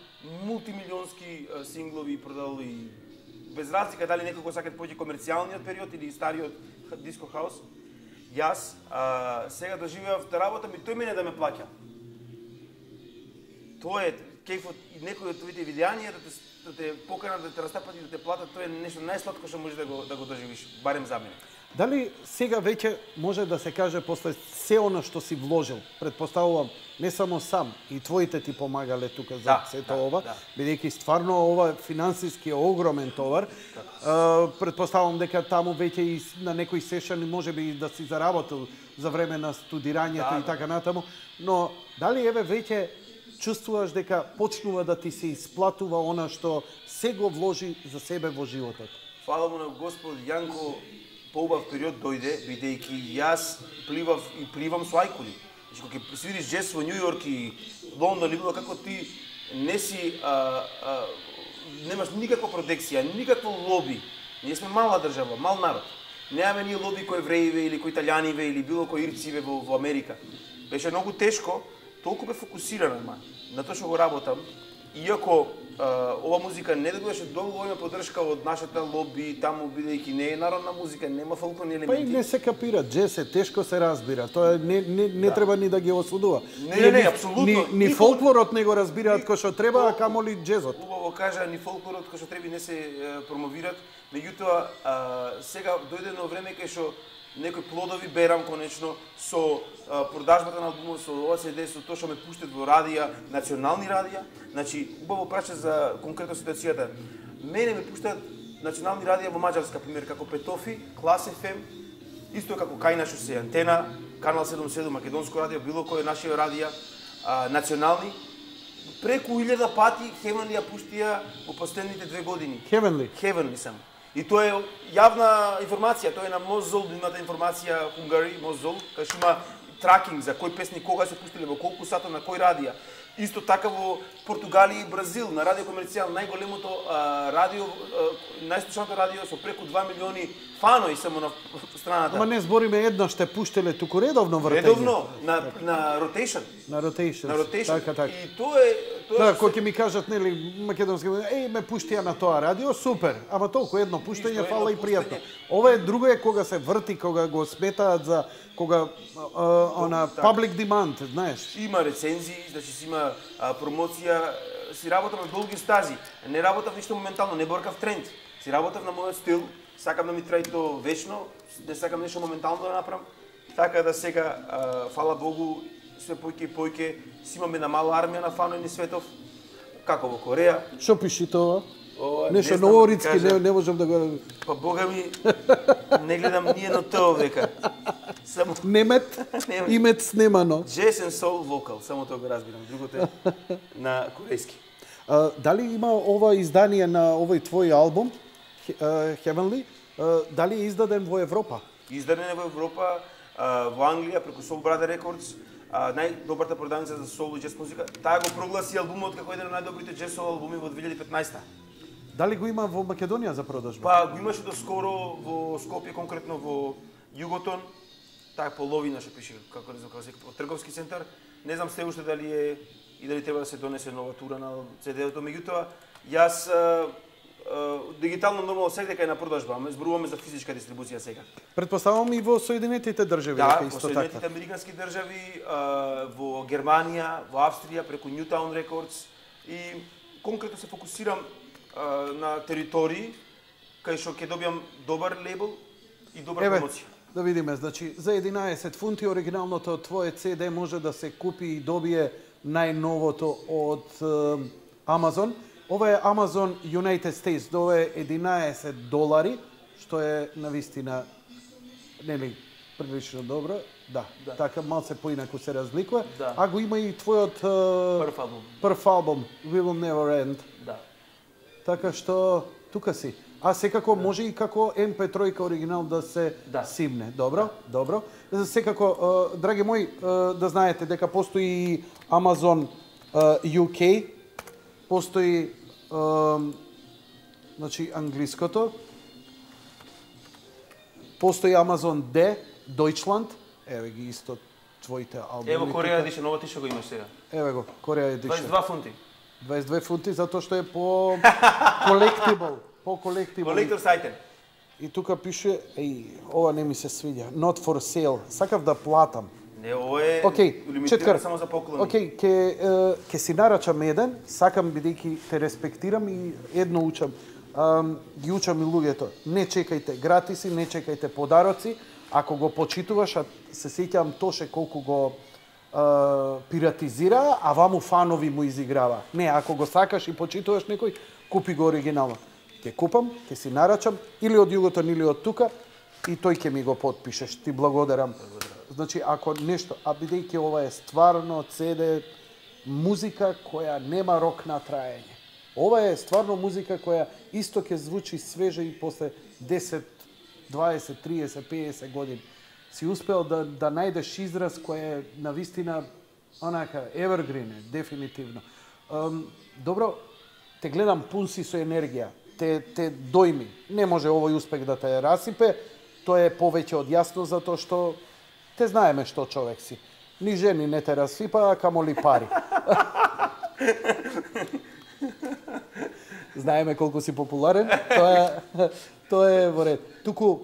Мултимилионски синглови продал и без разлика дали некој го сака да појде комерцијалниот период или стариот диско хаус. Јас сега доживеав да работам и тој мене да ме плаќа. Тоа е кефот и некој од твоите видеања да те поканат да те растапат и да те платат, тоа е нешто најсладко што можеш да го доживиш, барем за мене. Дали сега веќе може да се каже после се она што си вложил, предпоставувам не само сам, и твоите ти помагале тука за сето ова, бидејќи стварно ова финансиски е огромен товар. Предпоставувам дека таму веќе и на некои сешани можеби да си заработил за време на студирањето и така натаму, но дали еве веќе чувствуваш дека почнува да ти се исплатува она што се го вложи за себе во животот? Фала му на Господ Јанко, поубав период дојде, бидејќи јас пливам со ајкули. Значи, кога ќе свириш джез во Њу Јорк и Лондон или било како ти не си немаш никаква протекција, никакво лоби. Ние сме мала држава, мал народ. Немаме ние лоби кој евреиве или кој италијаниве или било кој ирциве во Америка. Беше многу тешко, толку бе фокусирана на тоа што го работам, иако ова музика не добиваше долго време поддршка од нашата лоби, таму бидејќи не е народна музика, нема фолклорни елементи. Па и не се капира, джез е тешко се разбира. Тоа не треба ни да ги осудува. Не, апсолутно. Ни фолклорот не го разбираат кој што треба, а камоли джезот. Убаво кажа, ни фолклорот кој што треба не се промовират, меѓутоа сега дојде едно време кај што некои плодови берам конечно со продажбата на албумот, со ова CD, со тоа што ме пуштат во радија, национални радија. Значи, убаво праќа за конкретно ситуацијата. Мене ме пуштат национални радија во Маđarска, пример, како Петофи, Клас FM, исто како Кајна што се Антена, Канал 77, Македонско радио, било кој наши радија, национални. Преку 1000 пати Heavenly ја пуштија во последните 2 години. Heavenly сам. И тоа е јавна информација, тоа е на Мозол, имате информација Хунгари, Мозол, кај што има тракинг за кој песни кога се пуштиле, во колку сата, на кој радија. Исто така во Португалија и Бразил, на Радио Комерцијал, најголемото радио, најслушаното радио со преку 2 милиони фанои само на страната. Ама не збориме еднаш те пуштеле туку редовно вртење. Редовно, на rotation. На rotation. Така. И тоа е... Да, кој ќе ми кажат, нели, македонски, ме пуштија на тоа радио, супер, ама толку едно пуштање, фала и пријатно. Ова е друго е кога се врти, кога го сметаат за кога public demand, знаеш. Има рецензии, значи си има промоција, си работам на долги стази, не работам ништо моментално, не боркав тренд. Си работам на мојот стил, сакам да ми трае то вечно, не сакам нешто моментално да направам. Така да сега, фала Богу, све појке и појке, си имаме на мала армија на фанови низ светов, како во Кореја. Што пиши тоа? Нешто новорицки, не можам да го... Па Бога ми, не гледам ние на тоа века. Само... Немет, имет снемано. Jazz and soul vocal, само тоа го разбирам, другото е на корејски. Дали има ова издание на овој твој албум, Heavenly, дали е издаден во Европа? Издаден е во Европа, во Англија, преку Soul Brother Records, најдобрата продавница за соул и джез музика. Таа го прогласи албумот како еден од најдобрите джез соул албуми во 2015. Дали го има во Македонија за продажба? Па го имаше доскоро во Скопје, конкретно во Југотон, таа половина што пише како од трговски центар. Не знам се уште дали е и дали треба да се донесе нова тура на CD-то, меѓутоа јас дигитално нормално секаде е на продажба, ама зборуваме за физичка дистрибуција сега. Претпоставувам и во Соединетите држави, да, исто така. во Соединетите американски држави, во Германија, во Австрија преку Newtown Records и конкретно се фокусирам на територии кај што ќе добиам добар лейбл и добра промоција. Да видиме, значи за 11 фунти оригиналното твое CD може да се купи и добие најновото од Amazon. Ова е Amazon United States, ова е $11, што е навистина нели прилично добро. Да, така малце поинаку се разликува. Да. А го има и твојот прв албум We Will Never End. Да. Така што тука си. А секако може и како MP3 оригинал да се симне. Добро, добро. Секако, драги мои, да знаете дека постои Amazon UK, постои значи англиското, постои Amazon D, Deutschland, еве ги исто твоите албуми. Ево Кореја Edition, ова ти што го имаш сега. Еве го, Кореја Edition. 22 фунти. 22 фунти затоа што е по колектибл. Collector's item. И тука пише, ова не ми се свиѓа, not for sale. Сакав да платам. Не, ова е лимитирано само за поклони. Океј, ќе си нарачам еден, сакам бидејќи те респектирам и едно учам. Ги учам и луѓето. Не чекајте гратиси, не чекајте подароци. Ако го почитуваш, а се сеќавам Тоше колку го пиратизира, а ваму фанови му изиграва. Не, ако го сакаш и почитуваш некој, купи го оригинално. Ќе купам, ќе си нарачам, или од Југотон, или од тука, и тој ќе ми го потпишеш. Ти благодарам. Значи, ако нешто, а бидејќи ова е стварно CD, музика која нема рок на траење. Ова е стварно музика која исто ќе звучи свежа и после 10, 20, 30, 50 години. Си успел да најдеш израз кој е навистина онака evergreen, дефинитивно. Добро, те гледам пун си со енергија. Те дојми. Не може овој успех да те расипе, тоа е повеќе од јасно затоа што те знаеме што човек си. Ни жени не те расипа, а камоли пари. Знаеме колку си популарен, тоа е во ред. Туку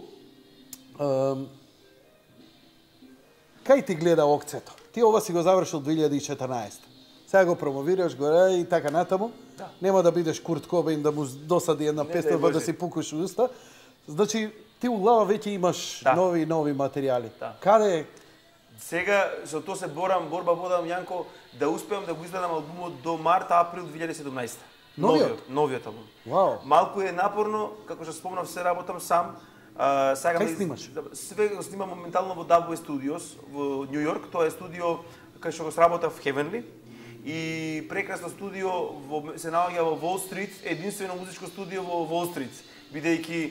кај ти гледа окцето? Ти ова си го завршил 2014. Сега го промовираш горе и така натаму. Да. Нема да бидеш Курт Кобейн да му досади една песна да си пукаш уста. Значи, ти у глава веќе имаш нови материјали. Да. Каде? Сега, со тоа се борба водам, Јанко, да успеам да го изгледам албумот до март-април 2017. Новиот албум. Вау. Малку е напорно, како што спомнав, се работам сам. Кај снимаш? Све го снимам моментално во Dubway Studios во Њу Јорк. Тоа е студио кај што го сработав Heavenly. И прекрасно студио се наоѓа во Wall Street, единствено музичко студио во Wall Street, бидејќи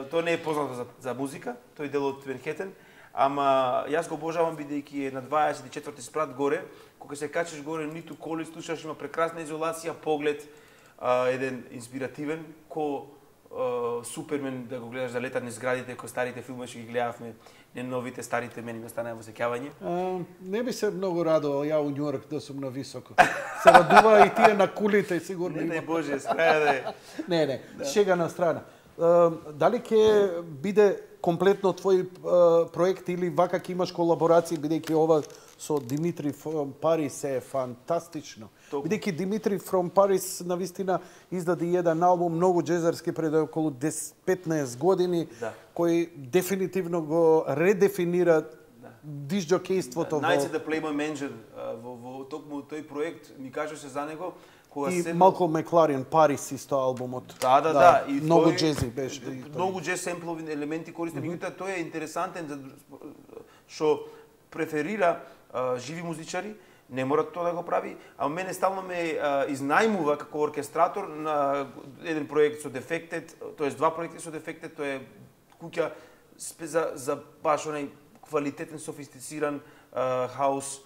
тоа не е познато за музика, тој е дел од Манхетен, ама јас го обожавам бидејќи е на 24-ти спрат горе, кога се качиш горе, ниту коли слушаш, има прекрасна изолација, поглед, еден инспиративен, Супермен да го гледаш да летат низ зградите, кои старите филми што ги гледавме, не новите, старите, мене ми останаа во сеќавање. Не би се многу радувал ја у Њујорк да сум на високо. Се радува и тие на кулите сигурно. Не дај Боже, скраја да е. Не, шега на страна. Дали ќе биде комплетно твој проект или вака ќе имаш колаборации, бидејќи ова со Димитри from Paris е фантастично. Бидејќи Димитри from Paris навистина издаде еден албум многу џезерски пред околу 10-15 години, кој дефинитивно го редефинира дисџокејството. Nights at the Playboy Mansion, во токму тој проект ми кажеше за него. И Малколм Макларен, Парис исто албумот. Да. И многу џези беше. Многу џез семплови елементи користи, меѓутоа тој е интересантен што преферира живи музичари, не мора тоа да го прави, а мене стално ме изнајмува како оркестратор на еден проект со Defected, тоест два проекти со Defected, тоа е куќа за баш онај квалитетен, софистициран хаус,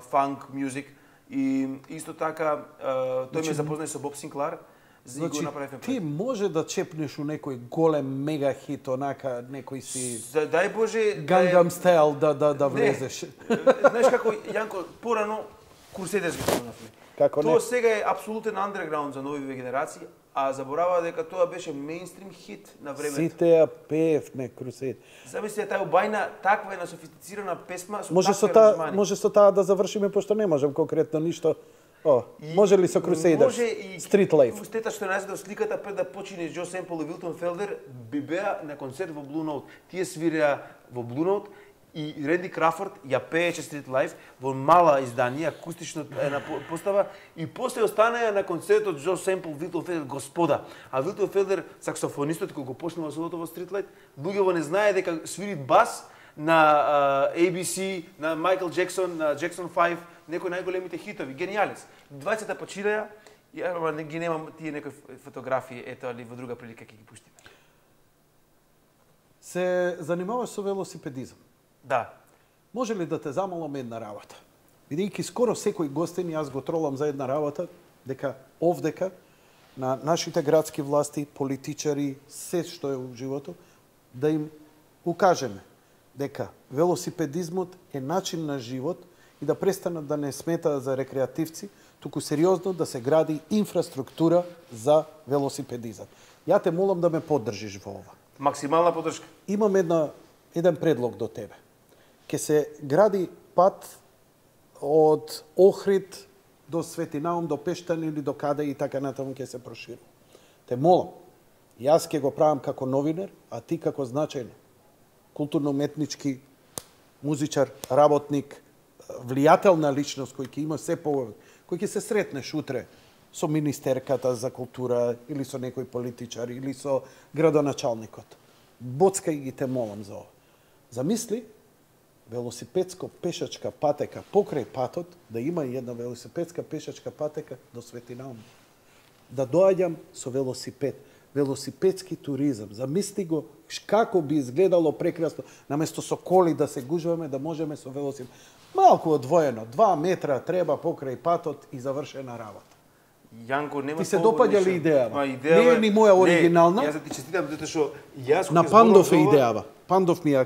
фанк, мюзик. И исто така, тој ме запознај со Боб Синклар, Значи, ти може да чепнеш у некој голем мега хит, онака некој си дај Боже Gangnam Style да влезеш. Знаеш како Јанко порано Crusaders ги спомнавме. Како не? Тоа сега е апсолутен андерграунд за нови генерации, а забораваа дека тоа беше мејнстрим хит на времето. Сите ја пеевме Crusaders. Замисли таа убајна, таква една софистицирана песма со може со таа да завршиме, пошто не можам конкретно ништо. Може ли со Crusaders? Може и Street Life. Устета што најде од сликата пред да почине Джо Семпл и Вилтон Фелдер би беа на концерт во Blue Note. Тие свиреа во Blue Note и Ренди Крафорд ја пееше Street Life во мала издание, акустично една постава и после останаа на концертот Джо Семпл, Вилтон Фелдер, господа. А Вилтон Фелдер, саксофонистот кој го почнува солото во Street Life, луѓето не знае дека свири бас на ABC, на Майкл Джексон, на Джексон 5, некои најголемите хитови, гениалис. 20-та починаја, ама ги немам тие некои фотографии, ето али во друга прилика ќе ги пуштиме. Се занимаваш со велосипедизам? Да. Може ли да те замолам една работа? Бидејќи скоро секој гостин, јас го тролам за една работа, дека овдека на нашите градски власти, политичари, се што е во животот, да им укажеме дека велосипедизмот е начин на живот и да престанат да не сметаат за рекреативци, туку сериозно да се гради инфраструктура за велосипедизам. Ја те молам да ме поддржиш во ова. Максимална поддршка. Имам еден предлог до тебе. Ке се гради пат од Охрид до Светинаум, до Пештан или до каде и така натаму ќе се проширува. Те молам, јас ќе го правам како новинар, а ти како значајно културно-уметнички музичар, работник, влијателна личност кој ќе има се повеќе, кој ќе се сретнеш утре со министерката за култура или со некој политичар или со градоначалникот. Боцкај ги те молам за ова. Замисли велосипедско пешачка патека покрај патот, да има и една велосипедска пешачка патека до Светинаум. Да доаѓам со велосипед. Велосипедски туризам. Замисли го како би изгледало прекрасно, наместо со коли да се гужваме, да можеме со велосипед. Малку одвоено, 2 метра треба покрај патот и завршена работа. Јанко, нема. Ти се допаѓа ли идејава? Идеја Не е ни моја оригинална. Јас ти честитам затоа што јас на Пандов е идејава. Пандов ми ја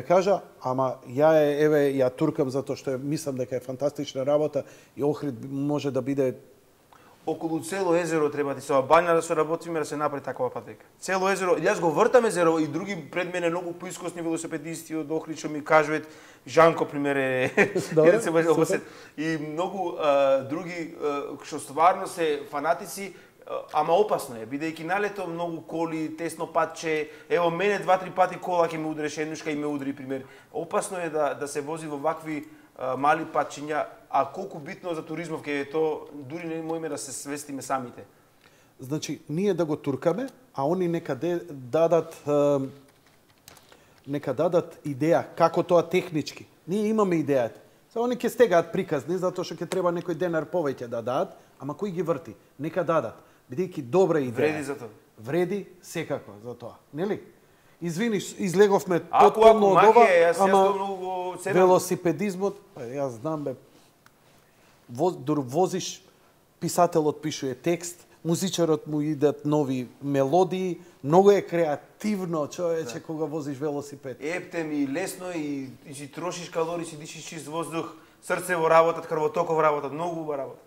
кажа, ама ја туркам затоа што мислам дека е фантастична работа и Охрид може да биде околу цело езеро треба да се обања да се работиме да се направи такова патека. Цело езеро, јас го вртам езеро и други пред мене многу поискосни велосипедисти од Охрид што ми кажуваат, Жанко пример е и многу други што стварно се фанатици, ама опасно е, бидејќи налето многу коли, тесно патче, ево мене 2-3 пати кола ќе ме удреше, еднушка и ме удри пример. Опасно е да се вози во вакви мали патчиња, а колку битно за туризмов ќе е то, дури не можеме да се свестиме самите. Значи, ние да го туркаме, а они нека дадат идеја како тоа технички. Ние имаме идејата. Они ќе стегаат приказни затоа што ќе треба некој денар повеќе да дадат, ама кој ги врти? Нека дадат. Бидејќи добра идеја. Вреди за тоа. Вреди секако за тоа, нели? Извини, излеговме тотално од ова, ама велосипедизмот, јас знам бе, возиш, писателот пишува текст, музичарот му идат нови мелодии, многу е креативно, човече, кога возиш велосипед. Епте ми лесно и си трошиш калории, си дишиш чист воздух, срце во работат, крвотоков работат, многу убава работа.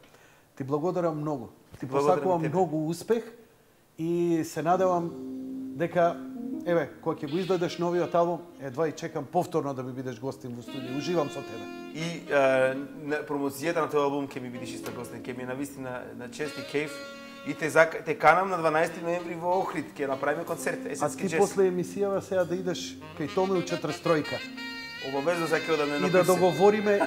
Ти благодарам многу. Ти посакувам многу успех и се надевам дека еве, кога ќе го издадеш новиот албум, едва и чекам повторно да ми бидеш гостин во студио. Уживам со тебе. И промоцијата на тој албум ќе ми бидеш исто гостин, ќе ми е навистина на чест и кејф. И те канам на 12 ноември во Охрид, ќе направиме концерт, есенски джез. А ти после емисијава сега да идеш кај Томе у 43-ка. Обавезно сакам да не напишем. И да договориме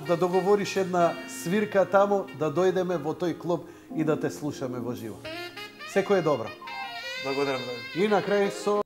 да договориш една свирка таму, да дојдеме во тој клуб и да те слушаме во живо. Секој е добро. Благодарам. И на крај со